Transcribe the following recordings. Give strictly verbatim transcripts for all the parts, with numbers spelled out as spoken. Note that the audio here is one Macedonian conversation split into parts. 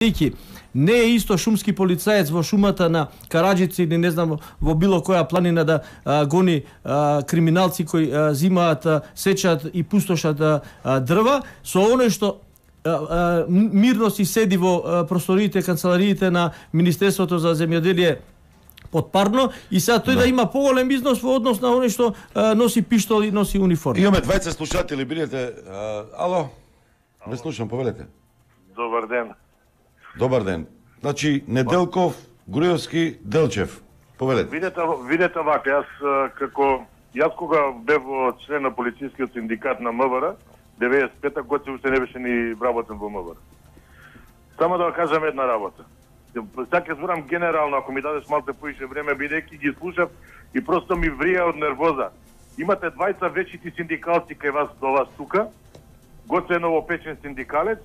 Не е исто шумски полицаец во шумата на Караджица или не знам во било која планина да а, гони а, криминалци кои а, зимаат, а, сечат и пустошат а, дрва, со оној што а, а, мирно си седи во а, просториите, канцелариите на Министерството за земјоделие подпарно и сега тој да. да има поголем износ во однос на оној што а, носи пиштол и носи униформа. Имаме двајца слушатели, бидете. А, ало? Не слушам, повелете. Добар ден. Добар ден. Значи, Неделков, Груевски, Делчев. Повелете. Видете, видете вака, јас како јас кога бев член на полицискиот синдикат на МВР, деветдесет и пета година уште не беше ни вработен во МВР. Само да кажам една работа. Сега ќе зборам генерално, ако ми дадеш малку поише време, бидејќи ги слушав и просто ми врија од нервоза. Имате двајца вечити синдикалци кај вас до вас тука, Гоце новопечен синдикалец,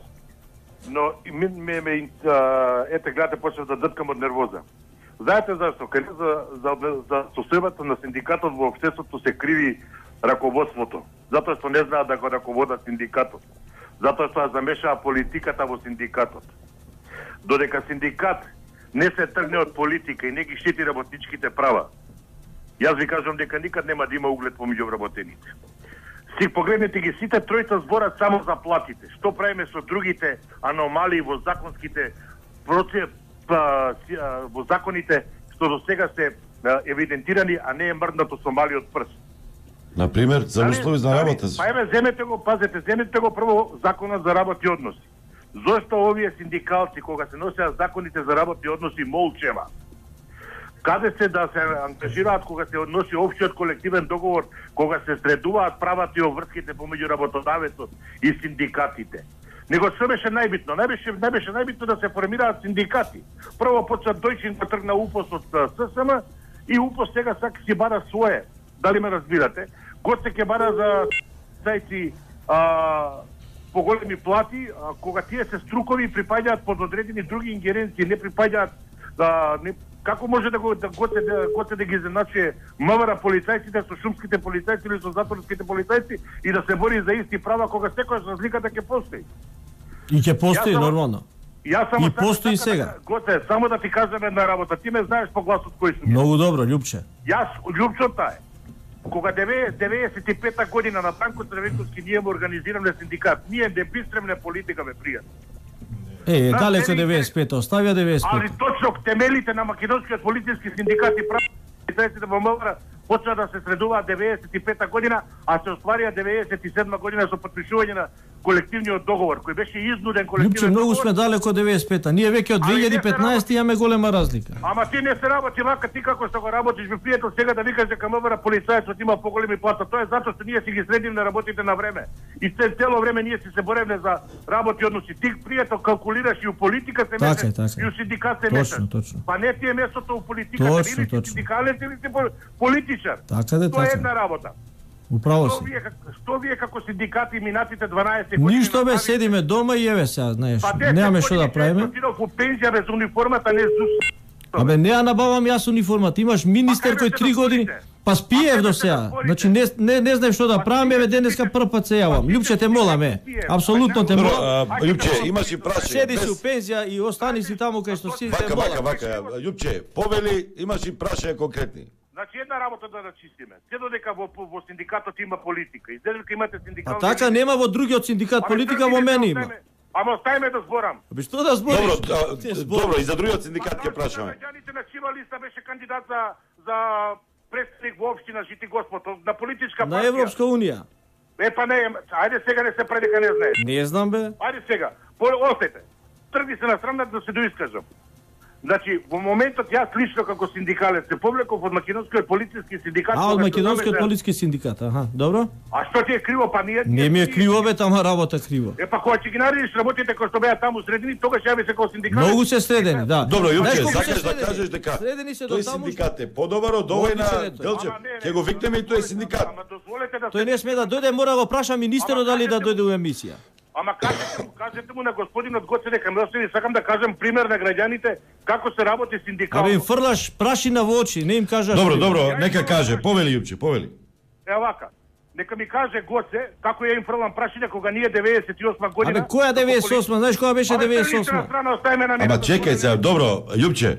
но ме, ме, ме ете гледате почнав да дъткам од нервоза. Знаете зашто? Кај за, за, за состојбата на синдикатот во општеството се криви раководството. Затоа што не знаат да го раководат синдикатот. Затоа што замешаа политиката во синдикатот. Додека синдикат не се тргне од политика и не ги штити работничките права, јас ви кажам дека никад нема да има углед помеѓу вработените. Си погледнете ги, сите тројца зборат само за платите. Што правиме со другите аномалии во законските процес, во законите што до сега се евидентирани, а не е мрднато со малиот прст. Например, за услови за работа. Па еве, земете го, пазете, земете го прво законот за работни односи. Зошто овие синдикалци, кога се носеа законите за работни односи, молчева? Каде се да се ангажираат кога се односи општиот колективен договор, кога се средуваат правата и обврските помеѓу работодавецот и синдикатите? Него што беше најбитно? Најбеше најбеше најбитно да се формираат синдикати. Прво почна Дојчин да тргна УПОС од ССМ и УПОС сега сака си бара свое. Дали ме разбирате? Гоце ќе бара за зајци а, поголеми плати, а, кога тие се струкови и припаѓаат под одредени други ингеренции, не припаѓаат да не како може да го да готе да готе да ги заначе МВР полицајците со шумските полицајци или со затворските полицајци и да се бори за исти права кога секојаш разликата ќе постои. И ќе постои само, нормално. Јас само и постои така, сега. Да, готе, само да ти кажам една работа. Ти ме знаеш по гласот кој сум. Многу добро, Љупче. Јас Љупчота е. Кога деветдесет и пета година на Танко Црвенковски ние му организираме синдикат, ние не бистремне политика ме пријат. Е, далеко деветдесет и пета, оставија деветдесет и пета. Али точно темелите на македонскиот полициски синдикат и правите во МВР почна да се средуваат деветдесет и пета година, а се остварија деветдесет и седма година со потпишување на колективниот договор, кој беше изнуден колективен Љупче, многу договор. сме далеко од деветдесет и пета. Ние веќе од две илјади и петнаесета имаме голема разлика. Ама ти не се работи вака, ти како што го работиш, би пријател сега да викаш дека МВР полицајецот има поголеми плата. Тоа е затоа што ние си ги средим на работите на време. И цело време ние си се боревме за работи односи. Ти пријател калкулираш и у политика се мешаш, и у синдикат се мешаш. Па не ти е местото у политиката, или си синдикалец или си политичар. Така де, Тоа е така. една работа. Управо Што си. вие, што вие како синдикати минатите дванаесет години... Ништо бе, седиме дома и еве сега, знаеш, немаме што да правиме. Па по пензија без униформата не зус. Абе, не ја набавам јас униформата. Имаш министер кој три години... Па спиев до сега. Значи не не не знаеш што да правам, еве денеска прв пат се јавам. Љупче, те молам е. Апсолутно те молам. Љупче, имаш и прашање. Седи си у пензија и остани си таму кај што си. Вака, вака, вака. Љупче, повели, имаш и прашање конкретни. Значи една работа да рачистиме. Се додека во, во синдикатот има политика. И додека имате синдикални... А така нема во другиот синдикат политика, во мене има. Ама оставиме да зборам. Абе што да збориш? Добро, добро, и за другиот синдикат ќе прашаме. Граѓаните на Чива листа беше кандидат за за представник во општина Жити Господ на политичка партија. На Европска унија. Е па не, ајде сега не се прави дека не знаеш. Не знам бе. Ајде сега. Остете. Тргни се на страна да се доискажам. Значи, во моментот јас лично како синдикалец се повлеков од македонскиот полициски синдикат. А, од македонскиот полициски синдикат, аха, добро. А што ти е криво, па ние... Не ми е криво бе, тама работа криво. Е, па кога ќе ги наредиш работите кои што беа таму средени, тогаш ја би се како синдикалец. Многу се средени, да. Добро, Јупче, сакаш да кажеш дека средени се до тој таму. синдикат е подобар од овој на Делчев. Ќе го викнеме и тој синдикат. Ама дозволете да... Тој не сме да дојде, мора го праша министерот дали да дојде у емисија. Ама кажете, кажете му на господинот Гоце дека ме остави, сакам да кажам пример на граѓаните како се работи синдикално. Абе им фрлаш прашина во очи, не им кажаш. Добро, добро, нека каже, повели Јупче, повели. Е вака. Нека ми каже Гоце како ја им фрлам прашање кога ние деветдесет и осма година. Абе која деветдесет и осма? Знаеш кога беше деветдесет и осма? Ама чекај сега, добро, Љупче.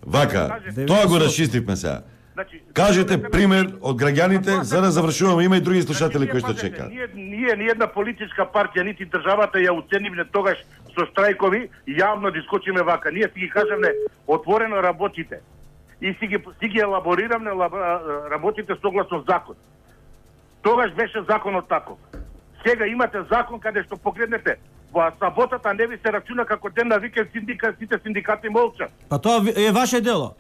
Вака, тоа го расчистивме сега. Значи, кажете пример од граѓаните за да завршуваме, има и други слушатели кои што чекаат. Ние ние ни една политичка партија нити државата ја уценивме тогаш со штрајкови, јавно да искочиме вака. Ние си ги кажеме отворено работите и си ги си ги елабориравме работите согласно закон. Тогаш беше законот таков. Сега имате закон каде што погледнете, во саботата не ви се рачуна како ден на викенд, синдикат, сите синдикати молчат. Па тоа е ваше дело.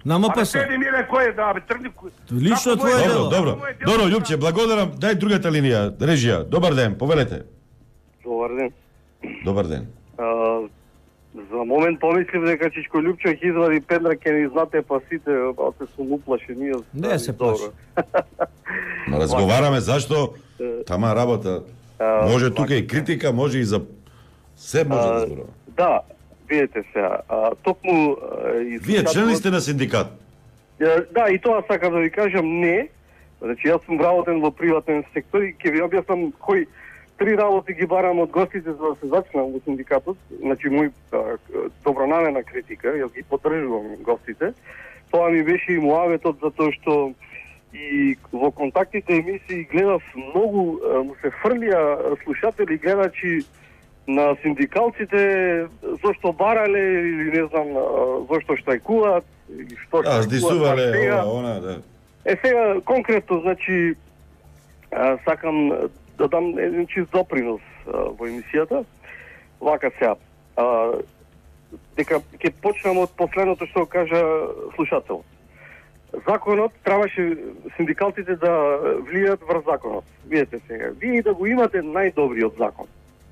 На МПС. А седи миле кој да бе тргни. Лично твое дело. Добро, добро. Добро, Љупче, благодарам. Дај другата линија, режија. Добар ден, повелете. Добар ден. Добар ден. А, за момент помислив дека Чичко Љупче ќе извади пендрак ке ни знате па сите, па се сум уплашен, ние. Не се плаши. Ма разговараме зашто тама работа. Може тука и критика, може и за се може да зборува. Да, видете сега, токму и вие член ли сте на синдикат? Да, и тоа сакам да ви кажам не. Значи јас сум работен во приватен сектор и ќе ви објаснам кои три работи ги барам од гостите за да се зачнам во синдикатот. Значи мој добронамерна критика, јас ги поддржувам гостите. Тоа ми беше и муаветот затоа што и во контактите емисии гледав многу, му се фрлија слушатели, гледачи на синдикалците зошто барале или не знам зошто штрајкуваат или што а здисувале ова она да. Е сега конкретно значи а, сакам да дам еден чист допринос а, во емисијата. Вака сега. А, дека ќе почнам од последното што кажа слушател. Законот требаше синдикалците да влијат врз законот. Видете сега, вие да го имате најдобриот закон.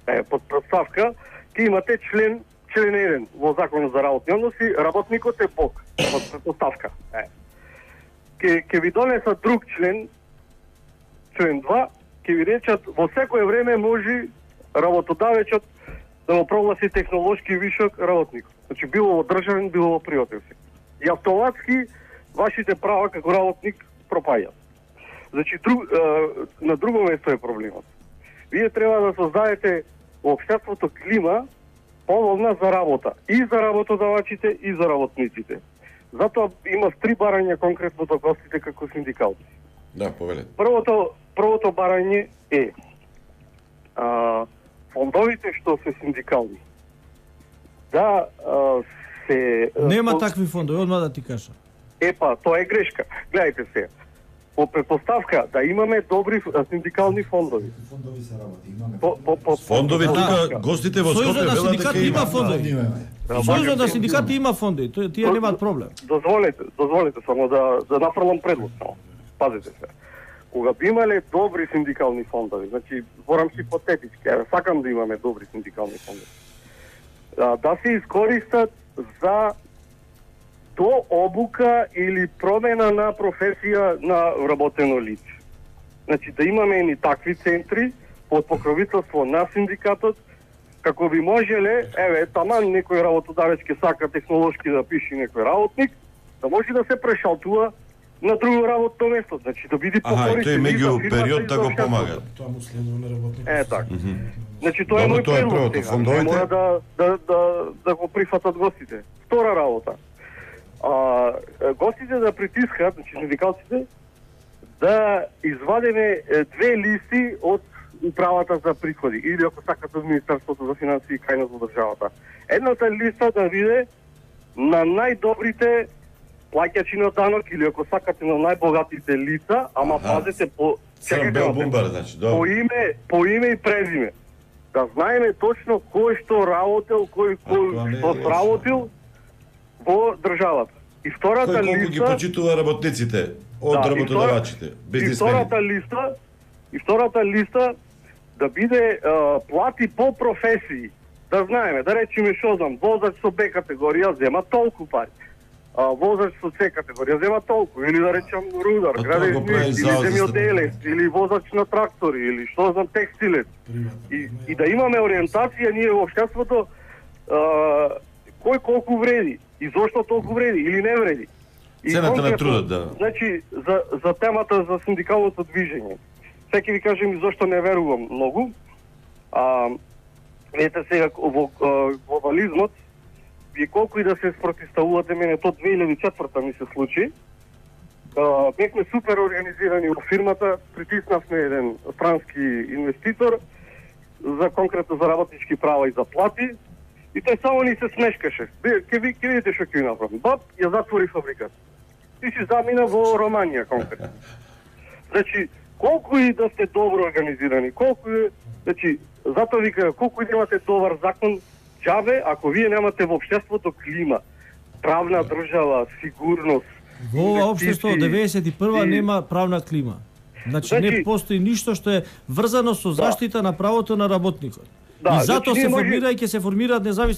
Е, под претставка ќе имате член член еден во законот за работни односи, работникот е Бог. Под претставка. Е. Ке ке ви донесат друг член, член два, ќе ви речат во секое време може работодавецот да го прогласи технолошки вишок работникот. Значи било во државен, било во приватен сектор. И автоматски вашите права како работник пропаѓаат. Значи друг, е, на друго место е проблемот. Вие треба да создадете во општеството клима поволна за работа и за работодавачите и за работниците. Затоа има три барања конкретно до гостите како синдикалци. Да, повелете. Првото првото барање е а, фондовите што се синдикални. Да а, се нема по... такви фондови, одма да ти кажа. Епа, тоа е грешка. Гледајте се. По предпоставка да имаме добри синдикални фондови. Фондови се работи, имаме. По, по, по, фондови тука гостите во Скопје велат дека има има фондови. Сојузот на синдикати има фондови, тие немаат проблем. Дозволете, дозволете само да да нафрлам предлог само. Пазете се. Кога би имале добри синдикални фондови, значи зборам хипотетички, а сакам да имаме добри синдикални фондови. Да, да се искористат за до обука или промена на професија на вработено лице. Значи да имаме и такви центри под покровителство на синдикатот, како би можеле, еве, таман некој работодавец ќе сака технолошки да пише некој работник, да може да се прешалтува на друго работно место, значи да биде покористен. Аха, и тој меѓу период да го помага. Тоа му следува на работник. Е, така. Mm -hmm. Значи тоа Добро, е мој предлог. Тоа е фондовите. Мора да, да, да, да го прифатат гостите. Втора работа. А, гостите да притискат, значи синдикалците, да извадиме две листи од управата за приходи или ако сакате од Министерството за финансии и кај нас во државата. Едната листа да биде на најдобрите плаќачи на данок или ако сакате на најбогатите лица, ама аха, пазете по чекајте бумбар, значи, по име, по име и презиме. Да знаеме точно кој што работел, кој кој што сработил во државата. И втората кој колку листа ги почитува работниците од да, работодавачите, бизнисмени. И втората листа, и втората листа да биде а, плати по професии. Да знаеме, да речеме што знам, возач со Б категорија зема толку пари. А, возач со С категорија зема толку, или да речем рудар, градежник, или земјоделец, или возач на трактори, или што знам текстилец. И, и да имаме ориентација ние во општеството кој колку вреди и зошто толку вреди или не вреди. И цената на трудот, да. Значи за за темата за синдикалното движење. Сега ќе ви кажем и зошто не верувам многу. А, ете сега во глобализмот, вие колку и да се спротивставувате, мене то две илјади и четврта ми се случи. А, бевме супер организирани во фирмата, притиснавме еден странски инвеститор за конкретно за работнички права и заплати, и тој само ни се смешкаше. Ке ви ке видите што ќе направам. Бап, ја затвори фабриката. И си замина во Романија конкретно. Значи, колку и да сте добро организирани, колку и, значи, затоа вика, колку и да имате добар закон, џабе, ако вие немате во општеството клима, правна држава, сигурност. Во ова општество од деветдесет и прва и... нема правна клима. Значи, значи не постои ништо што е врзано со заштита да. на правото на работникот. Да, и затоа значи, се формира може... и ќе се формираат независни